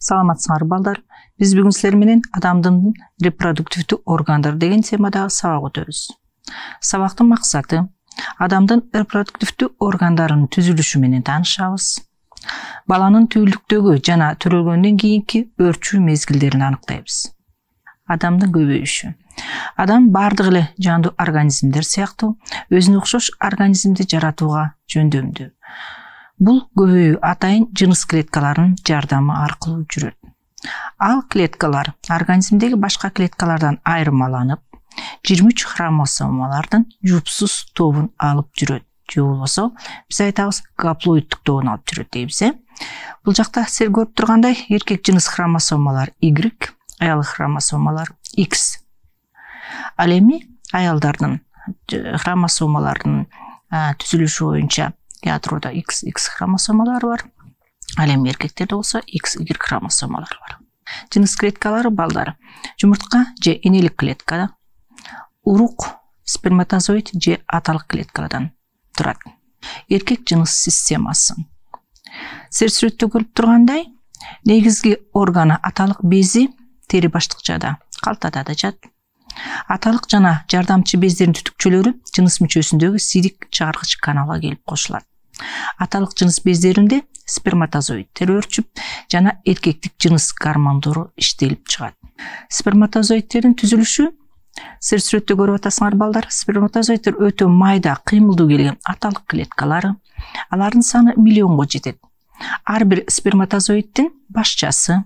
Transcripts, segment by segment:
Саламатсыңар балдар. Биз бүгүн силер менен адамдын репродуктивдүү органдары деген темадагы сабак өтөбүз. Сабактын максаты адамдын репродуктивдүү органдарынын түзүлүшү менен таанышабыз. Баланын түүлдүктөгү жана төрөлгөндөн кийинки өрчүү мезгилдерин аныктайбыз. Адамдын көбөйүшү. Адам бардык эле жандуу организмдер сыяктуу өзүнө окшош организмди жаратууга жөндөмдүү. Бул көбөйүү атайын жыныс клеткаларынын жардамы аркылуу жүрөт. Ал клеткалар организмдеги башка клеткалардан айырмаланып, 23 хромосомалардын жупсуз тобун алып жүрөт. Же болбосо биз айтабыз гаплоиддук тобун алып жүрөт дейбиз. Бул жакта силер көрүп тургандай эркек жыныс хромосомалар Y, аял хромосомалар X. Ал эми аялдардын хромосомаларынын түзүлүшү боюнча ядрода XX хромосомалары бар. Ал эми эркектерде болсо XY хромосомалары бар. Жыныс клеткалары балдар жумуртка же энелик клеткада, урук сперматозоид же аталык клеткадан турат. Эркек жыныс системасы. Силер сүрөттө көрүп тургандай, негизги органы аталык бези тери баштыкчада, калтада да жат. Аталык жана жардамчы бездердин түтүкчөлөрү жыныс мүчөсүндөгү сирик чыгаргыч каналга келип кошулат. Аталык жыныс бездеринде сперматозоидтер өрчүп жана эркектик жыныс гормондору иштелип чыгат. Сперматозоидтердин түзүлүшү силер сүрөттө көрүп атасыңар балдар. Сперматозоидтер өтө майда, кыймылдуу келген аталык клеткалары. Алардын саны миллионго жетет. Ар бир сперматозоиддин башчасы,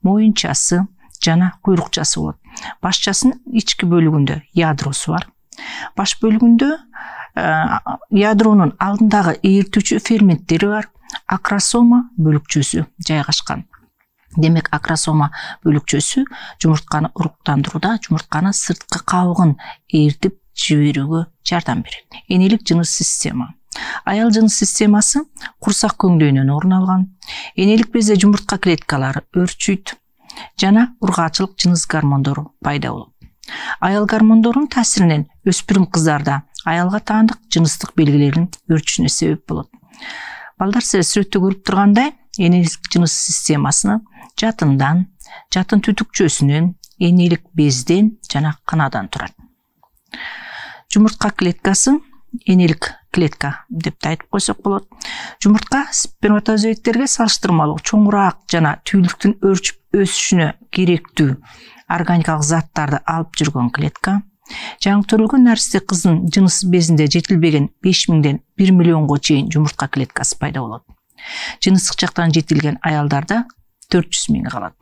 моюнчасы жана куйрукчасы болот. Башчасынын ички бөлүгүндө ядросу бар. Баш бөлүгүндө ядронун алдындагы ээртүүчү ферменттери бар. Акросома бөлүкчөсү жайгашкан. Демек, акросома бөлүкчөсү жумуртканы уруктандырууда жумуртканы сырткы кабыгын ээртип жиберүүгө жардам берет. Энелик жыныс система. Аял жыныс системасы курсак көңдөйүнөн орун алган. Энелик безде жумуртка клеткалары өрчүйт жана ургаачылык жыныс гормондору пайда болот. Аял гормондорунун таасиринен өспүрүм кыздарда аялга таандык жыныстык белгилердин өрчүшүнө себеп болот. Балдар силер сүрөттө көрүп тургандай, энелик жыныс системасыны жатындан, жатын түтүкчөсүнөн, энелик безден жана канадан турат. Жумуртка клеткасы энелик клетка деп айтып койсок болот. Жумуртка сперматозоидтерге салыштырмалуу чоңураак жана түүлдүктүн өрчүп өсүшүнө керектүү органикалык заттарды алып жүргөн клетка. Жаңы төрөлгөн наристе кыздын жыныс безинде жетилбеген 5000ден 1 миллионго чейин жумуртка клеткасы пайда болот. Жыныстык жактан жетилген аялдарда 400 000 калат.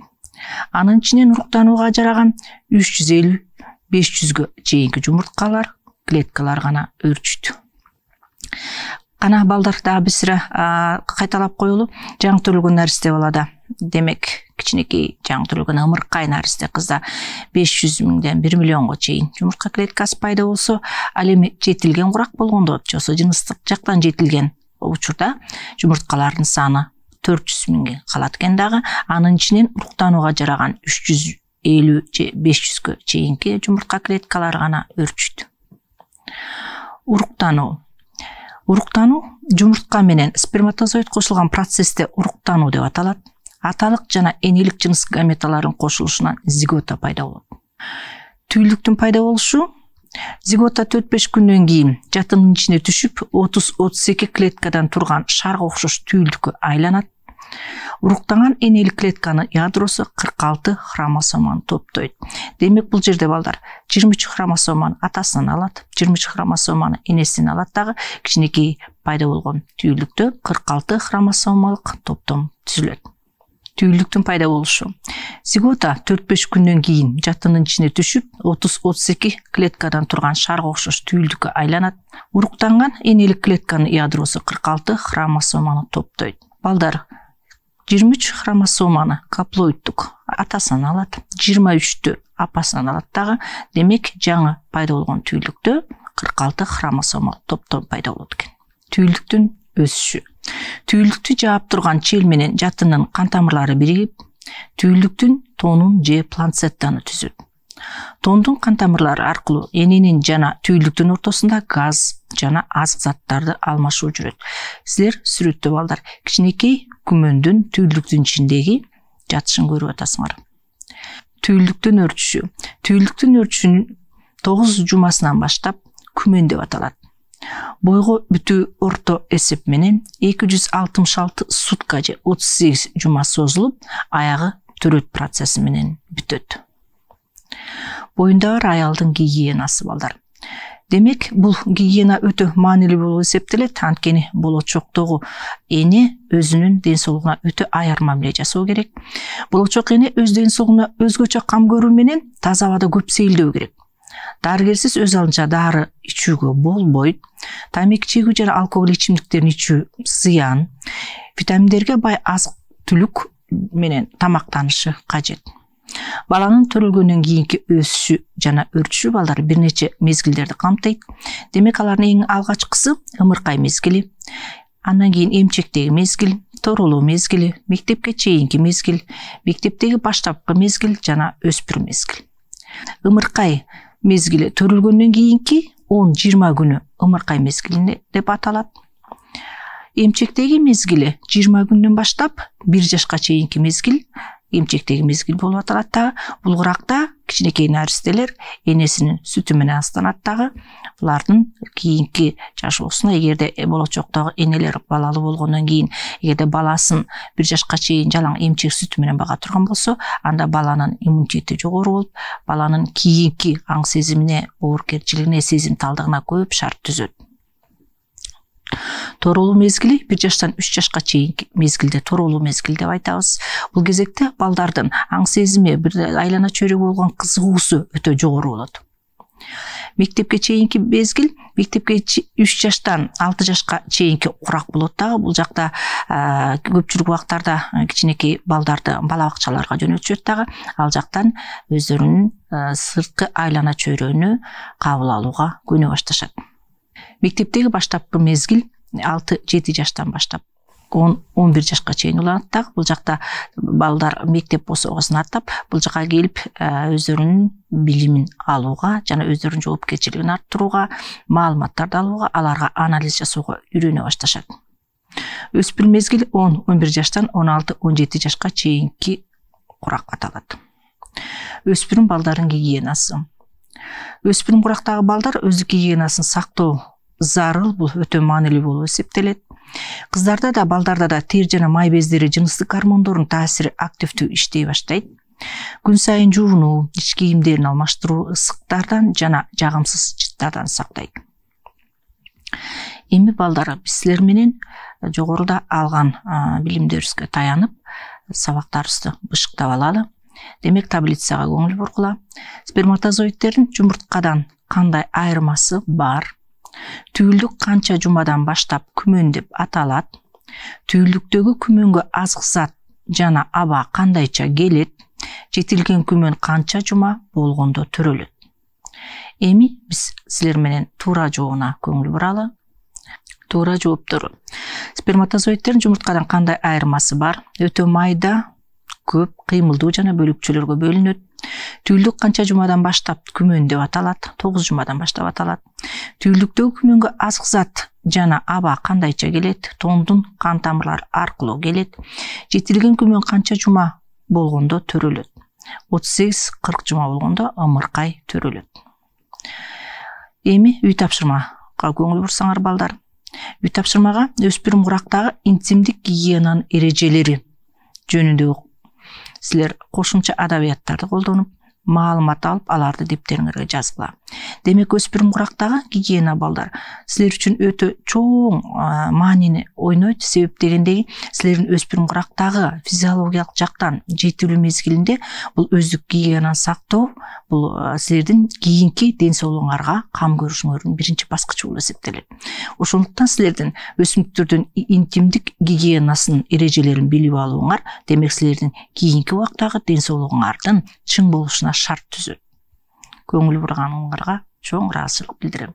Анын ичинен уруктанууга жараган 350-500гө чейинки жумурткалар, клеткалар гана өрчүт. Кана балдар дагы бир сыра кайталап коелу. Жаңы төрөлгөн наристе балада, демек, кичинекей жаңы төрөлгөн ымыркай наристе кызда 500 000ден 1 миллионго чейин жумуртка клеткасы пайда болсо, ал эми жетилген курак болгондо, же болбосо жыныстык жактан жетилген учурда жумурткалардын саны 400 000 калат экен дагы. Анын ичинен уруктанууга жараган 350 же 500гө чейинки жумуртка клеткалары гана өрчүт. Уруктануу. Уруктануу жумуртка менен сперматозоид кошулган процессте уруктануу деп аталат. Аталык жана энелик жыныс гаметаларынын кошулушунан зигота пайда болот. Түүлдүктүн пайда болушу зигота 4-5 күндөн кийин жатынын ичине түшүп, 30-32 клеткадан турган шарга окшош түүлдүккө айланат. Уруктанган энелик клетканын ядросу 46 хромосоманы топтойт. Демек, бул жерде балдар 23 хромосоманы атасынан алат, 23 хромосоманы энесинен алат дагы кичинекей пайда болгон түүлдүктө 46 хромосомалык топтом түзүлөт. Түүлдүктүн пайда болушу. Зигота 4-5 күндөн кийин жатынын ичине түшүп, 30-32 клеткадан турган шарга окшош түүлдүккө айланат. Уруктанган энелик клетканын ядросу 46 хромосоманы топтойт. Балдар 23 хромосоманы гаплоиддук атасынан алат, 23-тү апасынан алат дагы. Демек, жаңы пайда болгон түүлдүктө 46 хромосомалык топтом пайда болот экен. Түүлдүктүн өсүшү. Түүлдүктү жаап турган чел менен жатынын кан тамырлары биригип, түүлдүктүн тонун же планцеттаны түзөт. Тондун кан тамырлары аркылуу эненин жана түүлдүктүн ортосунда газ жана азык заттарды алмашуу жүрөт. Силер сүрөттө балдар кичинекей күмөндүн түүлдүктүн ичиндеги жатышын көрүп атасыңар. Түйүлдүктүн өрчүшү. Түйүлдүктүн өрчүшүнүн 9 жумасынан баштап күмөн деп аталат. Бойго бүтүү орто эсеп менен 266 сутка же 38 жума созулуп, аягы төрөт процесси менен бүтөт. Боюндагы аялдын гигиенасы балдар. Демек, бул гигиена өтө маанилүү болуп эсептелет, анткени болочоктогу эне өзүнүн ден соолугуна өтө аяр мамиле жасоо керек. Болочок эне өз ден соолугуна өзгөчө кам көрүү менен таза абада көп сейилдөө керек. Дарыгерсиз өз алдынча дары ичүүгө болбойт. Тамеки чегүү жана алкоголь ичимдиктерин ичүү зыян. Витаминдерге бай азык-түлүк менен тамактанышы кажет. Баланын төрөлгөндөн кийинки өсүшү жана өрчүшү балдар бир нече мезгилдерди камтыйт. Демек, алардын эң алгачкысы ымыркай мезгили, андан кийин эмчектеги мезгил, торолуу мезгили, мектепке чейинки мезгил, мектептеги баштапкы мезгил жана өспүрүм мезгил. Ымыркай мезгили төрөлгөндөн кийинки 10-20 күнү ымыркай мезгили деп аталат. Эмчектеги мезгили 20 күндөн баштап 1 жашка чейинки мезгил эмчектеги мезгил болуп аталат дагы. Бул куракта кичинекей наристелер энесинин сүтү менен астанат дагы. Булардын кийинки жашоосуна, эгерде болочоктогу энелер балалуу болгондон кийин, эгерде баласын 1 жашка чейин жалаң эмчек сүтү менен бага турган болсо, анда баланын иммунитети жогору болуп, баланын кийинки аң сезимине, оорукерчилигине, сезимталдыгына көп шарт түзөт. Торолуу мезгили 1 жаштан 3 жашка чейинки мезгилде торолуу мезгил деп айтабыз. Бул кезекте балдардын аң сезими, бир айлана чөйрөгө болгон кызыгуусу өтө жогору болот. Мектепке чейинки мезгил, мектепке 3 жаштан 6 жашка чейинки курак болот дагы. Бул жакта көпчүлүк убактарда кичинекей балдарды бала бакчаларга жөнөтүшөт дагы. Ал жактан өздөрүнүн сырткы айлана чөйрөнү кабыл алууга көнө башташат. Мектептеги баштапкы мезгил 6-7 жаштан баштап 10-11 жашка чейин уланат дагы. Бул жакта балдар мектеп босогосун аттап, бул жака келип өздөрүнүн билимин алууга жана өздөрүнүн жоопкерчилигин арттырууга, маалыматтарды алууга, аларга анализ жасоого үйрөнө башташат. Өспүрүм мезгил 10-11 жаштан 16-17 жашка чейинки курак аталат. Өспүрүм балдардын гигиенасы. Өспүрүм курактагы балдар өздүк гигиенасын сактоо зарыл, бул өтө маанилүү болуп эсептелет. Кыздарда да, балдарда да тер жана май бездери жыныстык гормондордун таасири активдүү иштей баштайт. Күн сайын жуунуу, ич кийимдерин алмаштыруу ысыктардан жана жагымсыз жыттардан сактайт. Эми балдар, биз силер менен жогоруда алган билимдерибизге таянып, сабактарыбызды бышыктап алалы. Демек, таблицага көңүл бургула. Сперматозоидтердин жумурткадан кандай айырмасы бар? Түйүлдүк канча жумадан баштап күмөн деп аталат? Түйүлдүктөгү күмөнгө азык зат жана аба кандайча келет? Жетилген күмөн канча жума болгондо төрөлөт? Эми биз силер менен туура жообуна көңүл буралы. Туура жооптору. Сперматозоидтердин жумурткадан кандай айырмасы бар? Өтө майда, көп, кыймылдуу жана бөлүкчөлөргө бөлүнөт. Түйүлдүк канча жумадан баштап күмөн деп аталат? 9 жумадан баштап аталат. Түйүлдүктөгү күмөнгө азык зат жана аба кандайча келет? Тондун кан тамырлары аркылуу келет. Жетилген күмөн канча жума болгондо төрөлөт? 38-40 жума болгондо ымыркай төрөлөт. Эми үй тапшырмага көңүл бурсаңар балдар. Үй тапшырмага өспүрүм курактагы интимдик гигиенанын эрежелери жөнүндө силер кошумча адабияттарды колдонуп, маалымат алып, аларды дептериңерге жазгыла. Демек, өспүрүм курактагы гигиена балдар силер үчүн өтө чоң маанини ойнойт. Себеп дегендеги, силердин өспүрүм курактагы физиологиялык жактан жетилүү мезгилинде бул өздүк гигиенаны сактоо, бул силердин кийинки ден соолугуңарга кам көрүшүңөрдүн биринчи баскычы болуп эсептелет. Ошондуктан силердин өсүмдүктөрдүн интимдик гигиенасынын эрежелерин билип алууңар, демек, силердин кийинки убактагы ден соолугуңардын чың болушуна шарт түзөт. Көңүл бурганыңарга чоң ыраазычылык билдирем.